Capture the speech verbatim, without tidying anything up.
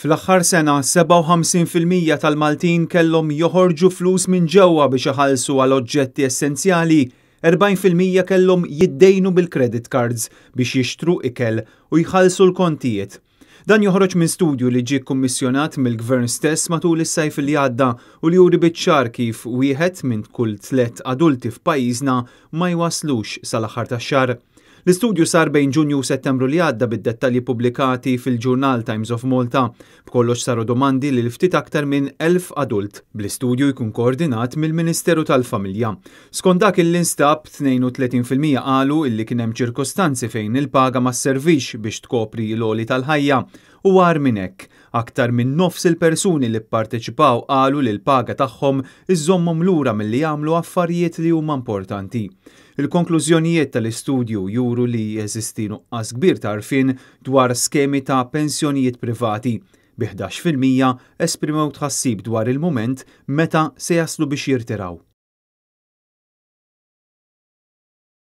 Fl-aħħar sena, sebgħa u ħamsin fil-mija tal-Maltin kellhom joħorġu flus minn ġewwa biex iħallsu għal oġġetti essenzjali, erbgħin fil-mija kellhom jiddejnu bil-credit cards biex jixtru ikel u jħallsu l-kontijiet. Dan joħroġ minn studju li ġie kummissjonat mill-gvern stess matul is-sajf li għadda u li juri biċ-ċar kif wieħed minn kull tliet adulti f'pajjiżna ma jwaslux sal-aħħar tax-xahar. L-istudju sar bejn Ġunju u Settembru li għadda, bid-dettalji pubblikati fil-ġurnal Times of Malta. B'kollox saru domandi lil ftit aktar minn elf adult, bl-istudju jkun koordinat mill-Ministeru tal-Familja. Skont dak li nstab, tnejn u tletin fil-mija qalu illi kien hemm ċirkostanzi fejn il-paga ma servix biex tkopri l-għoli tal-ħajja, u agħar minn hekk, aktar minn nofs il-persuni li pparteċipaw qalu li l-paga tagħhom iżommhom lura milli jagħmlu affarijiet li huma importanti. Il-konklużjonijiet tal-istudju juru li jeżisti nuqqas kbir ta' għarfien dwar skemi ta' pensjonijiet privati, bi ħdax fil-mija esprimew tħassib dwar il-moment meta se jaslu biex jirtiraw.